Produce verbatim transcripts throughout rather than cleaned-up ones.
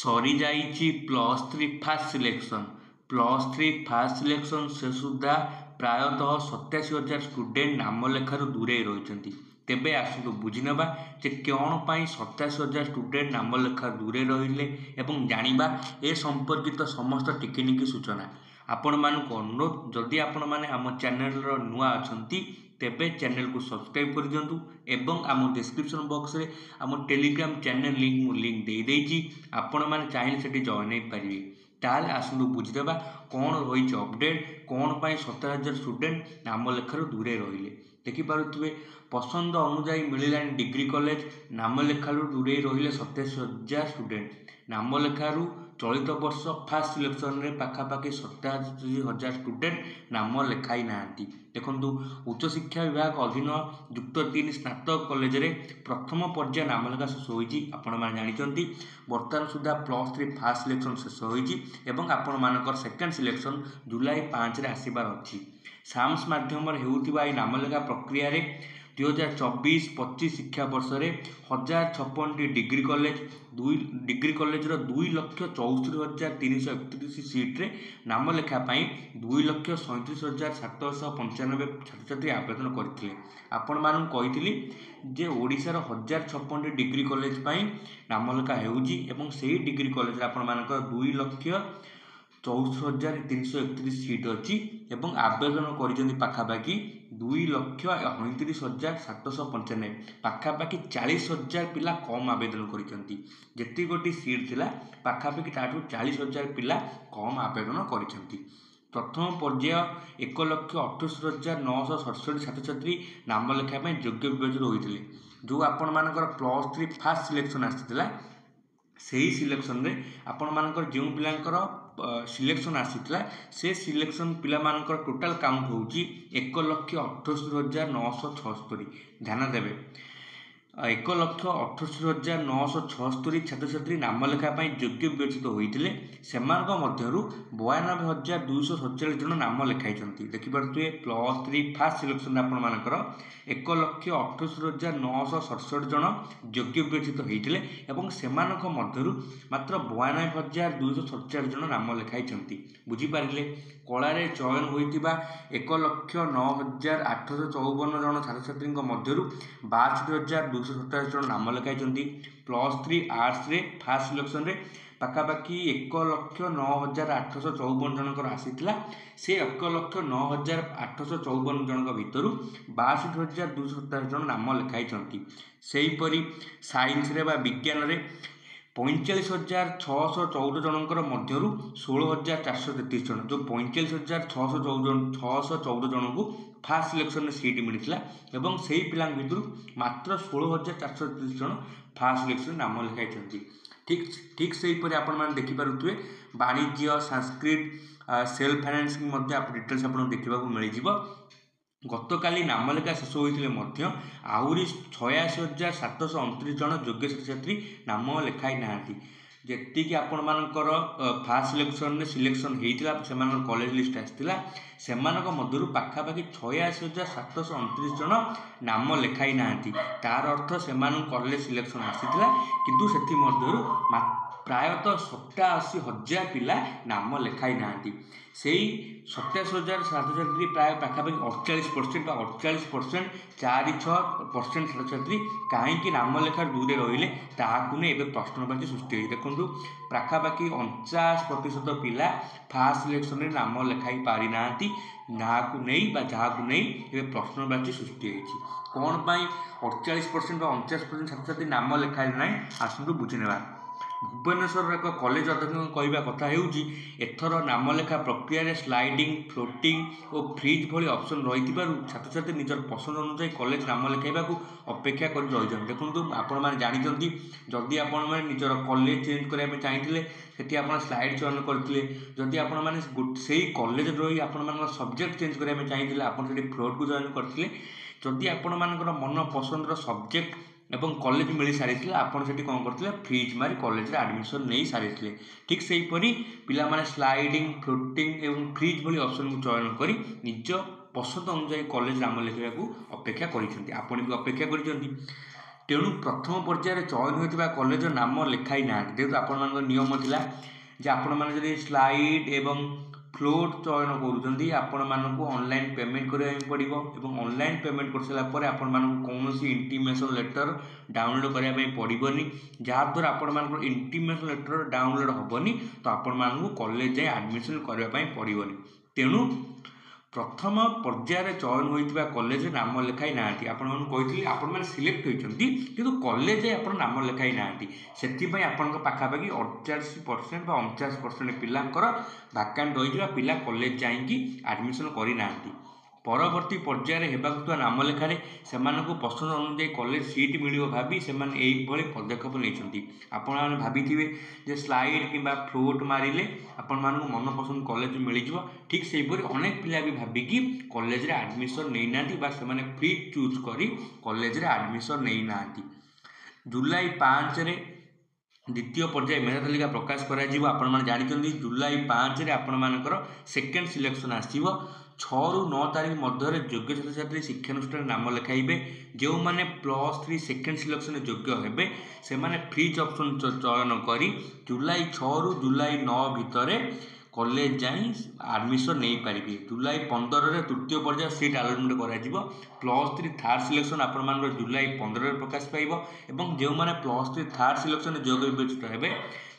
ସରିଯାଇଛି plus three first selection plus three first selection ଶେଷ ସୁଦ୍ଧା ପ୍ରାୟତଃ ସତାଅଶୀ ହଜାର ଷ୍ଟୁଡେଣ୍ଟ ନାମଲେଖାରୁ ଦୂରେଇ ରହିଛନ୍ତି ତେବେ ଆସନ୍ତୁ ବୁଝିନେବା ଯେ କ'ଣ ପାଇଁ ସତାଅଶୀ ହଜାର ଷ୍ଟୁଡେଣ୍ଟ ନାମଲେଖାରୁ ଦୂରେଇ ରହିଲେ ଏବଂ ଜାଣିବା ଏ ସମ୍ପର୍କିତ ସମସ୍ତ ଟିକିନିକି ସୂଚନା ଆପଣମାନଙ୍କୁ ଅନୁରୋଧ ଯଦି ଆପଣମାନେ ଆମ ଚ୍ୟାନେଲର ନୂଆ ଅଛନ୍ତି ତେବେ ଚ୍ୟାନେଲକୁ ସବସ୍କ୍ରାଇବ୍ କରିଦିଅନ୍ତୁ ଏବଂ ଆମ ଡିସ୍କ୍ରିପସନ୍ ବକ୍ସରେ ଆମ ଟେଲିଗ୍ରାମ ଚ୍ୟାନେଲ ଲିଙ୍କ୍ ମୁଁ ଲିଙ୍କ୍ ଦେଇଦେଇଛି ଆପଣମାନେ ଚାହିଁଲେ ସେଠି ଜଏନ୍ ହେଇପାରିବେ ତାହେଲେ ଆସନ୍ତୁ ବୁଝିଦେବା କ'ଣ ରହିଛି ଅପଡ଼େଟ୍ କ'ଣ ପାଇଁ ସତର ହଜାର ଷ୍ଟୁଡେଣ୍ଟ ନାମଲେଖାରୁ ଦୂରେଇ ରହିଲେ ଦେଖିପାରୁଥିବେ ପସନ୍ଦ ଅନୁଯାୟୀ ମିଳିଲାନି ଡିଗ୍ରୀ କଲେଜ ନାମଲେଖାରୁ ଦୂରେଇ ରହିଲେ ସତେଇଶ ହଜାର ଷ୍ଟୁଡେଣ୍ଟ ନାମଲେଖାରୁ ଚଳିତ ବର୍ଷ ଫାର୍ଷ୍ଟ ସିଲେକ୍ସନରେ ପାଖାପାଖି ସତାଅଶୀ ହଜାର ଷ୍ଟୁଡେଣ୍ଟ ନାମ ଲେଖାଇ ନାହାନ୍ତି ଦେଖନ୍ତୁ ଉଚ୍ଚଶିକ୍ଷା ବିଭାଗ ଅଧୀନ ଯୁକ୍ତ ତିନି ସ୍ନାତକ କଲେଜରେ ପ୍ରଥମ ପର୍ଯ୍ୟାୟ ନାମଲେଖା ଶେଷ ହୋଇଛି ଆପଣମାନେ ଜାଣିଛନ୍ତି ବର୍ତ୍ତମାନ ସୁଦ୍ଧା ପ୍ଲସ୍ ଥ୍ରୀ ଫାର୍ଷ୍ଟ ସିଲେକ୍ସନ୍ ଶେଷ ହୋଇଛି ଏବଂ ଆପଣମାନଙ୍କର ସେକେଣ୍ଡ ସିଲେକ୍ସନ୍ ଜୁଲାଇ ପାଞ୍ଚରେ ଆସିବାର ଅଛି ସାମ୍ସ ମାଧ୍ୟମରେ ହେଉଥିବା ଏହି ନାମଲେଖା ପ୍ରକ୍ରିୟାରେ ଦୁଇହଜାର ଚବିଶ ପଚିଶ ଶିକ୍ଷାବର୍ଷରେ ହଜାର ଛପନଟି ଡିଗ୍ରୀ କଲେଜ ଦୁଇ ଡିଗ୍ରୀ କଲେଜର ଦୁଇ ଲକ୍ଷ ଚଉସ୍ତରୀ ହଜାର ତିନିଶହ ଏକତିରିଶ ସିଟ୍ରେ ନାମଲେଖା ପାଇଁ ଦୁଇ ଲକ୍ଷ ସଇଁତିରିଶ ହଜାର ସାତଶହ ପଞ୍ଚାନବେ ଛାତ୍ରଛାତ୍ରୀ ଆବେଦନ କରିଥିଲେ ଆପଣମାନଙ୍କୁ କହିଥିଲି ଯେ ଓଡ଼ିଶାର ହଜାର ଛପନଟି ଡିଗ୍ରୀ କଲେଜ ପାଇଁ ନାମଲେଖା ହେଉଛି ଏବଂ ସେହି ଡିଗ୍ରୀ କଲେଜରେ ଆପଣମାନଙ୍କର ଦୁଇ ଲକ୍ଷ ଚଉସ୍ତରୀ ହଜାର ତିନିଶହ ଏକତିରିଶ ସିଟ୍ ଅଛି ଏବଂ ଆବେଦନ କରିଛନ୍ତି ପାଖାପାଖି ଦୁଇ ଲକ୍ଷ ସଇଁତିରିଶ ହଜାର ସାତଶହ ପଞ୍ଚାନବେ ପାଖାପାଖି ଚାଳିଶ ହଜାର ପିଲା କମ୍ ଆବେଦନ କରିଛନ୍ତି ଯେତିକି ଗୋଟି ସିଟ୍ ଥିଲା ପାଖାପାଖି ତାଠୁ ଚାଳିଶ ହଜାର ପିଲା କମ୍ ଆବେଦନ କରିଛନ୍ତି ପ୍ରଥମ ପର୍ଯ୍ୟାୟ ଏକ ଲକ୍ଷ ଅଠସ୍ତରୀ ହଜାର ନଅଶହ ସତଷଠି ଛାତ୍ରଛାତ୍ରୀ ନାମ ଲେଖା ପାଇଁ ଯୋଗ୍ୟ ବିବେଚିତ ହୋଇଥିଲେ ଯେଉଁ ଆପଣମାନଙ୍କର ପ୍ଲସ୍ ଥ୍ରୀ ଫାର୍ଷ୍ଟ ସିଲେକ୍ସନ୍ ଆସିଥିଲା ସେହି ସିଲେକ୍ସନରେ ଆପଣମାନଙ୍କର ଯେଉଁ ପିଲାଙ୍କର ସିଲେକ୍ସନ୍ ଆସିଥିଲା ସେ ସିଲେକ୍ସନ୍ ପିଲାମାନଙ୍କର ଟୋଟାଲ୍ କାଉଣ୍ଟ ହେଉଛି ଏକ ଲକ୍ଷ ଅଠସ୍ତରୀ ହଜାର ନଅଶହ ଛଅସ୍ତରୀ ଧ୍ୟାନ ଦେବେ ଏକ ଲକ୍ଷ ଅଠସ୍ତରୀ ହଜାର ନଅଶହ ଛଅସ୍ତରୀ ଛାତ୍ରଛାତ୍ରୀ ନାମଲେଖା ପାଇଁ ଯୋଗ୍ୟ ବିବେଚିତ ହୋଇଥିଲେ ସେମାନଙ୍କ ମଧ୍ୟରୁ ବୟାନବେ ହଜାର ଦୁଇଶହ ସତଚାଳିଶ ଜଣ ନାମ ଲେଖାଇଛନ୍ତି ଦେଖିପାରୁଥିବେ ପ୍ଲସ୍ ଥ୍ରୀ ଫାର୍ଷ୍ଟ ସିଲେକ୍ସନରେ ଆପଣମାନଙ୍କର ଏକ ଲକ୍ଷ ଅଠସ୍ତରୀ ହଜାର ନଅଶହ ସତଷଠି ଜଣ ଯୋଗ୍ୟ ବିବେଚିତ ହୋଇଥିଲେ ଏବଂ ସେମାନଙ୍କ ମଧ୍ୟରୁ ମାତ୍ର ବୟାନବେ ହଜାର ଦୁଇଶହ ସତଚାଳିଶ ଜଣ ନାମ ଲେଖାଇଛନ୍ତି ବୁଝିପାରିଲେ କଳାରେ ଚୟନ ହୋଇଥିବା ଏକ ଲକ୍ଷ ନଅ ହଜାର ଆଠଶହ ଚଉବନ ଜଣ ଛାତ୍ରଛାତ୍ରୀଙ୍କ ମଧ୍ୟରୁ ବାଷଠି ହଜାର ଦୁଇଶହ ସତାଅଶୀ ଜଣ ନାମ ଲେଖାଇଛନ୍ତି ପ୍ଲସ୍ ଥ୍ରୀ ଆର୍ଟ୍ସରେ ଫାର୍ଷ୍ଟ ସିଲେକ୍ସନରେ ପାଖାପାଖି ଏକ ଲକ୍ଷ ନଅ ହଜାର ଆଠଶହ ଚଉବନ ଜଣଙ୍କର ଆସିଥିଲା ସେ ଏକ ଲକ୍ଷ ନଅ ହଜାର ଆଠଶହ ଚଉବନ ଜଣଙ୍କ ଭିତରୁ ବାଷଠି ହଜାର ଦୁଇଶହ ସତାଅଶୀ ଜଣ ନାମ ଲେଖାଇଛନ୍ତି ସେହିପରି ସାଇନ୍ସରେ ବା ବିଜ୍ଞାନରେ ପଇଁଚାଳିଶ ହଜାର ଛଅଶହ ଚଉଦ ଜଣଙ୍କର ମଧ୍ୟରୁ ଷୋହଳ ହଜାର ଚାରିଶହ ତେତିଶ ଜଣ ଯେଉଁ ପଇଁଚାଳିଶ ହଜାର ଛଅଶହ ଚଉଦ ଛଅଶହ ଚଉଦ ଜଣଙ୍କୁ ଫାର୍ଷ୍ଟ ସିଲେକ୍ସନରେ ସିଟ୍ ମିଳିଥିଲା ଏବଂ ସେହି ପିଲାଙ୍କ ଭିତରୁ ମାତ୍ର ଷୋହଳ ହଜାର ଚାରିଶହ ତେତିଶ ଜଣ ଫାର୍ଷ୍ଟ ସିଲେକ୍ସନରେ ନାମ ଲେଖାଇଛନ୍ତି ଠିକ୍ ଠିକ୍ ସେହିପରି ଆପଣମାନେ ଦେଖିପାରୁଥିବେ ବାଣିଜ୍ୟ ସାଂସ୍କ୍ରିଟ ସେଲ୍ଫ ଫାଇନାନ୍ସିଂ ମଧ୍ୟ ଡିଟେଲ୍ସ ଆପଣଙ୍କୁ ଦେଖିବାକୁ ମିଳିଯିବ ଗତକାଲି ନାମଲେଖା ଶେଷ ହୋଇଥିଲେ ମଧ୍ୟ ଆହୁରି ଛୟାଅଶୀ ହଜାର ସାତଶହ ଅଣତିରିଶ ଜଣ ଯୋଗ୍ୟ ଛାତ୍ରଛାତ୍ରୀ ନାମ ଲେଖାଇ ନାହାନ୍ତି ଯେତିକି ଆପଣମାନଙ୍କର ଫାର୍ଷ୍ଟ ସିଲେକ୍ସନରେ ସିଲେକ୍ସନ୍ ହେଇଥିଲା ସେମାନଙ୍କର କଲେଜ ଲିଷ୍ଟ ଆସିଥିଲା ସେମାନଙ୍କ ମଧ୍ୟରୁ ପାଖାପାଖି ଛୟାଅଶୀ ହଜାର ସାତଶହ ଅଣତିରିଶ ଜଣ ନାମ ଲେଖାଇ ନାହାନ୍ତି ତାର ଅର୍ଥ ସେମାନଙ୍କୁ କଲେଜ ସିଲେକ୍ସନ୍ ଆସିଥିଲା କିନ୍ତୁ ସେଥିମଧ୍ୟରୁ ପ୍ରାୟତଃ ସତାଅଶୀ ହଜାର ପିଲା ନାମ ଲେଖାଇ ନାହାନ୍ତି ସେଇ ସତାଅଶୀ ହଜାର ଛାତ୍ରଛାତ୍ରୀ ପ୍ରାୟ ପାଖାପାଖି ଅଡ଼ଚାଳିଶ ପରସେଣ୍ଟ ବା ଅଡ଼ଚାଳିଶ ପରସେଣ୍ଟ ଚାରି ଛଅ ପରସେଣ୍ଟ ଛାତ୍ରଛାତ୍ରୀ କାହିଁକି ନାମ ଲେଖାରୁ ଦୂରେ ରହିଲେ ତାହାକୁ ନେଇ ଏବେ ପ୍ରଶ୍ନବାଚୀ ସୃଷ୍ଟି ହୋଇଛି ଦେଖନ୍ତୁ ପାଖାପାଖି ଅଣଚାଶ ପ୍ରତିଶତ ପିଲା ଫାର୍ଷ୍ଟ ସିଲେକ୍ସନରେ ନାମ ଲେଖାଇ ପାରିନାହାନ୍ତି ଯାହାକୁ ନେଇ ବା ଯାହାକୁ ନେଇ ଏବେ ପ୍ରଶ୍ନବାଚୀ ସୃଷ୍ଟି ହୋଇଛି କ'ଣ ପାଇଁ ଅଡ଼ଚାଳିଶ ପରସେଣ୍ଟ ବା ଅଣଚାଶ ପରସେଣ୍ଟ ଛାତ୍ରଛାତ୍ରୀ ନାମ ଲେଖାଇଲେ ନାହିଁ ଆସନ୍ତୁ ବୁଝିନେବା ଭୁବନେଶ୍ୱରର ଏକ କଲେଜ ଅଧ୍ୟକ୍ଷଙ୍କ କହିବା କଥା ହେଉଛି ଏଥର ନାମଲେଖା ପ୍ରକ୍ରିୟାରେ ସ୍ଲାଇଡିଂ ଫ୍ଲୋଟିଂ ଓ ଫ୍ରିଜ୍ ଭଳି ଅପସନ୍ ରହିଥିବାରୁ ଛାତ୍ରଛାତ୍ରୀ ନିଜର ପସନ୍ଦ ଅନୁଯାୟୀ କଲେଜ ନାମ ଲେଖାଇବାକୁ ଅପେକ୍ଷା କରି ରହିଛନ୍ତି ଦେଖନ୍ତୁ ଆପଣମାନେ ଜାଣିଛନ୍ତି ଯଦି ଆପଣମାନେ ନିଜର କଲେଜ ଚେଞ୍ଜ କରିବା ପାଇଁ ଚାହିଁଥିଲେ ସେଠି ଆପଣ ସ୍ଲାଇଡ୍ ଚୟନ କରିଥିଲେ ଯଦି ଆପଣମାନେ ସେଇ କଲେଜରେ ରହି ଆପଣମାନଙ୍କର ସବଜେକ୍ଟ ଚେଞ୍ଜ କରିବା ପାଇଁ ଚାହିଁଥିଲେ ଆପଣ ସେଠି ଫ୍ଲୋଟ୍କୁ ଜଏନ୍ କରିଥିଲେ ଯଦି ଆପଣମାନଙ୍କର ମନ ପସନ୍ଦର ସବଜେକ୍ଟ ଏବଂ କଲେଜ ମିଳିସାରିଥିଲା ଆପଣ ସେଠି କ'ଣ କରିଥିଲେ ଫ୍ରିଜ୍ ମାରି କଲେଜରେ ଆଡ଼ମିସନ୍ ନେଇ ସାରିଥିଲେ ଠିକ୍ ସେହିପରି ପିଲାମାନେ ସ୍ଲାଇଡ଼ିଂ ଫ୍ଲୋଟିଂ ଏବଂ ଫ୍ରିଜ୍ ଭଳି ଅପସନ୍କୁ ଚୟନ କରି ନିଜ ପସନ୍ଦ ଅନୁଯାୟୀ କଲେଜ ନାମ ଲେଖିବାକୁ ଅପେକ୍ଷା କରିଛନ୍ତି ଆପଣ ବି ଅପେକ୍ଷା କରିଛନ୍ତି ତେଣୁ ପ୍ରଥମ ପର୍ଯ୍ୟାୟରେ ଚୟନ ହୋଇଥିବା କଲେଜର ନାମ ଲେଖାଇ ନାହାନ୍ତି। ଯେହେତୁ ଆପଣମାନଙ୍କ ନିୟମ ଥିଲା ଯେ ଆପଣମାନେ ଯଦି ସ୍ଲାଇଡ୍ ଏବଂ ଫ୍ଲୋଟ୍ ଚୟନ କରୁଛନ୍ତି, ଆପଣମାନଙ୍କୁ ଅନଲାଇନ୍ ପେମେଣ୍ଟ କରିବା ପାଇଁ ପଡ଼ିବ ଏବଂ ଅନଲାଇନ୍ ପେମେଣ୍ଟ କରିସାରିଲା ପରେ ଆପଣମାନଙ୍କୁ କୌଣସି ଇଣ୍ଟିମେସନ୍ ଲେଟର୍ ଡାଉନଲୋଡ଼୍ କରିବା ପାଇଁ ପଡ଼ିବନି। ଯାହାଦ୍ୱାରା ଆପଣମାନଙ୍କର ଇଣ୍ଟିମେସନ୍ ଲେଟର୍ ଡାଉନଲୋଡ଼୍ ହେବନି, ତ ଆପଣମାନଙ୍କୁ କଲେଜ ଯାଇ ଆଡ଼ମିସନ୍ କରିବା ପାଇଁ ପଡ଼ିବନି। ତେଣୁ ପ୍ରଥମ ପର୍ଯ୍ୟାୟରେ ଚୟନ ହୋଇଥିବା କଲେଜରେ ନାମ ଲେଖାଇ ନାହାନ୍ତି। ଆପଣମାନଙ୍କୁ କହିଥିଲି, ଆପଣମାନେ ସିଲେକ୍ଟ ହୋଇଛନ୍ତି କିନ୍ତୁ କଲେଜ ଯାଇ ଆପଣ ନାମ ଲେଖାଇ ନାହାନ୍ତି। ସେଥିପାଇଁ ଆପଣଙ୍କ ପାଖାପାଖି ଅଡ଼ଚାଳିଶ ପରସେଣ୍ଟ ବା ଅଣଚାଶ ପରସେଣ୍ଟ ପିଲାଙ୍କର ଭାକାଣ୍ଟ ରହିଛି ବା ପିଲା କଲେଜ ଯାଇକି ଆଡ଼ମିସନ୍ କରିନାହାନ୍ତି। ପରବର୍ତ୍ତୀ ପର୍ଯ୍ୟାୟରେ ହେବାକୁ ଥିବା ନାମ ଲେଖାରେ ସେମାନଙ୍କୁ ପସନ୍ଦ ଅନୁଯାୟୀ କଲେଜ ସିଟ୍ ମିଳିବ ଭାବି ସେମାନେ ଏଇଭଳି ପଦକ୍ଷେପ ନେଇଛନ୍ତି। ଆପଣମାନେ ଭାବିଥିବେ ଯେ ସ୍ଲାଇଡ୍ କିମ୍ବା ଫ୍ଲୋଟ୍ ମାରିଲେ ଆପଣମାନଙ୍କୁ ମନପସନ୍ଦ କଲେଜ ମିଳିଯିବ। ଠିକ୍ ସେହିପରି ଅନେକ ପିଲା ବି ଭାବିକି କଲେଜରେ ଆଡ଼ମିସନ୍ ନେଇନାହାନ୍ତି ବା ସେମାନେ ଫ୍ରି ଚୁଜ୍ କରି କଲେଜରେ ଆଡ଼ମିସନ୍ ନେଇନାହାନ୍ତି। ଜୁଲାଇ ପାଞ୍ଚରେ ଦ୍ୱିତୀୟ ପର୍ଯ୍ୟାୟ ମେଧା ତାଲିକା ପ୍ରକାଶ କରାଯିବ। ଆପଣମାନେ ଜାଣିଛନ୍ତି, ଜୁଲାଇ ପାଞ୍ଚରେ ଆପଣମାନଙ୍କର ସେକେଣ୍ଡ ସିଲେକ୍ସନ୍ ଆସିବ। ଛଅରୁ ନଅ ତାରିଖ ମଧ୍ୟରେ ଯୋଗ୍ୟ ଛାତ୍ରଛାତ୍ରୀ ଶିକ୍ଷାନୁଷ୍ଠାନରେ ନାମ ଲେଖାଇବେ। ଯେଉଁମାନେ ପ୍ଲସ୍ ଥ୍ରୀ ସେକେଣ୍ଡ ସିଲେକ୍ସନରେ ଯୋଗ୍ୟ ହେବେ, ସେମାନେ ଫ୍ରିଜ୍ ଅପସନ୍ ଚୟନ କରି ଜୁଲାଇ ଛଅରୁ ଜୁଲାଇ ନଅ ଭିତରେ କଲେଜ ଯାଇ ଆଡ଼ମିସନ୍ ନେଇପାରିବେ। ଜୁଲାଇ ପନ୍ଦରରେ ତୃତୀୟ ପର୍ଯ୍ୟାୟ ସିଟ୍ ଆଲଟମେଣ୍ଟ କରାଯିବ। ପ୍ଲସ୍ ଥ୍ରୀ ଥାର୍ଡ଼ ସିଲେକ୍ସନ୍ ଆପଣମାନଙ୍କର ଜୁଲାଇ ପନ୍ଦରରେ ପ୍ରକାଶ ପାଇବ ଏବଂ ଯେଉଁମାନେ ପ୍ଲସ୍ ଥ୍ରୀ ଥାର୍ଡ଼ ସିଲେକ୍ସନରେ ଯୋଗ୍ୟ ବିବେଚିତ ହେବେ,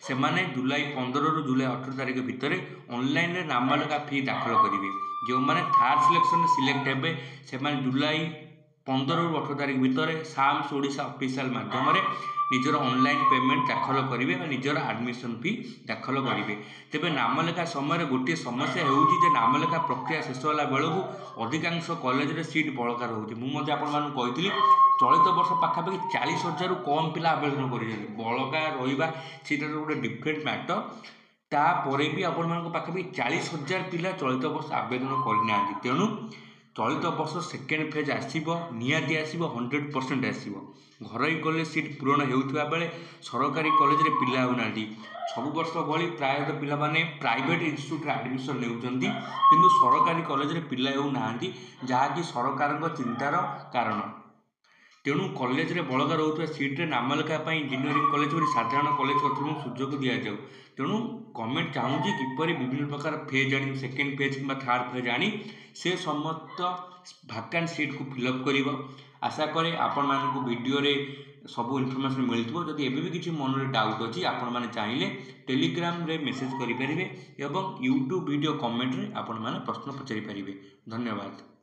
ସେମାନେ ଜୁଲାଇ ପନ୍ଦରରୁ ଜୁଲାଇ ଅଠର ତାରିଖ ଭିତରେ ଅନଲାଇନରେ ନାମଲେଖା ଫି ଦାଖଲ କରିବେ। ଯେଉଁମାନେ ଥାର୍ଡ଼ ସିଲେକ୍ସନରେ ସିଲେକ୍ଟ ହେବେ, ସେମାନେ ଜୁଲାଇ ପନ୍ଦରରୁ ଅଠର ତାରିଖ ଭିତରେ ସାମ୍ସ ଓଡ଼ିଶା ଅଫିସିଆଲ ମାଧ୍ୟମରେ ନିଜର ଅନଲାଇନ୍ ପେମେଣ୍ଟ ଦାଖଲ କରିବେ ବା ନିଜର ଆଡ଼ମିସନ୍ ଫି ଦାଖଲ କରିବେ। ତେବେ ନାମଲେଖା ସମୟରେ ଗୋଟିଏ ସମସ୍ୟା ହେଉଛି ଯେ ନାମଲେଖା ପ୍ରକ୍ରିୟା ଶେଷ ହେଲା ବେଳକୁ ଅଧିକାଂଶ କଲେଜରେ ସିଟ୍ ବଳକା ରହୁଛି। ମୁଁ ମଧ୍ୟ ଆପଣମାନଙ୍କୁ କହିଥିଲି, ଚଳିତ ବର୍ଷ ପାଖାପାଖି ଚାଳିଶ ହଜାରରୁ କମ୍ ପିଲା ଆବେଦନ କରିଛନ୍ତି। ବଳକା ରହିବା ସେଇଟା ଗୋଟେ ଡିଫରେଣ୍ଟ ମ୍ୟାଟର୍। ତାପରେ ବି ଆପଣମାନଙ୍କ ପାଖାପାଖି ଚାଳିଶ ହଜାର ପିଲା ଚଳିତ ବର୍ଷ ଆବେଦନ କରିନାହାନ୍ତି। ତେଣୁ ଚଳିତ ବର୍ଷ ସେକେଣ୍ଡ ଫେଜ୍ ଆସିବ, ନିହାତି ଆସିବ, ହଣ୍ଡ୍ରେଡ଼ ପରସେଣ୍ଟ ଆସିବ। ଘରୋଇ କଲେଜ ସିଟ୍ ପୂରଣ ହେଉଥିବା ବେଳେ ସରକାରୀ କଲେଜରେ ପିଲା ହେଉନାହାନ୍ତି। ସବୁ ବର୍ଷ ଭଳି ପ୍ରାୟତଃ ପିଲାମାନେ ପ୍ରାଇଭେଟ୍ ଇନଷ୍ଟିଚ୍ୟୁଟ୍ରେ ଆଡ଼ମିସନ୍ ନେଉଛନ୍ତି, କିନ୍ତୁ ସରକାରୀ କଲେଜରେ ପିଲା ହେଉନାହାନ୍ତି, ଯାହାକି ସରକାରଙ୍କ ଚିନ୍ତାର କାରଣ। ତେଣୁ କଲେଜରେ ବଳକା ରହୁଥିବା ସିଟ୍ରେ ନାମଲେଖା ପାଇଁ ଇଞ୍ଜିନିୟରିଂ କଲେଜ ପରି ସାଧାରଣ କଲେଜ କର୍ତ୍ତୃପକ୍ଷଙ୍କୁ ସୁଯୋଗ ଦିଆଯାଉ। ତେଣୁ ଗଭର୍ଣ୍ଣମେଣ୍ଟ ଚାହୁଁଛି କିପରି ବିଭିନ୍ନ ପ୍ରକାର ଫେଜ୍ ଆଣି, ସେକେଣ୍ଡ ଫେଜ୍ କିମ୍ବା ଥାର୍ଡ଼ ଫେଜ୍ ଆଣି ସେ ସମସ୍ତ ଭାକାଣ୍ଟ ସିଟ୍କୁ ଫିଲ୍ଅପ୍ କରିବ। ଆଶା କରେ ଆପଣମାନଙ୍କୁ ଭିଡ଼ିଓରେ ସବୁ ଇନଫର୍ମେସନ୍ ମିଳିଥିବ। ଯଦି ଏବେ ବି କିଛି ମନରେ ଡାଉଟ୍ ଅଛି, ଆପଣମାନେ ଚାହିଁଲେ ଟେଲିଗ୍ରାମରେ ମେସେଜ୍ କରିପାରିବେ ଏବଂ ୟୁଟ୍ୟୁବ୍ ଭିଡ଼ିଓ କମେଣ୍ଟରେ ଆପଣମାନେ ପ୍ରଶ୍ନ ପଚାରିପାରିବେ। ଧନ୍ୟବାଦ।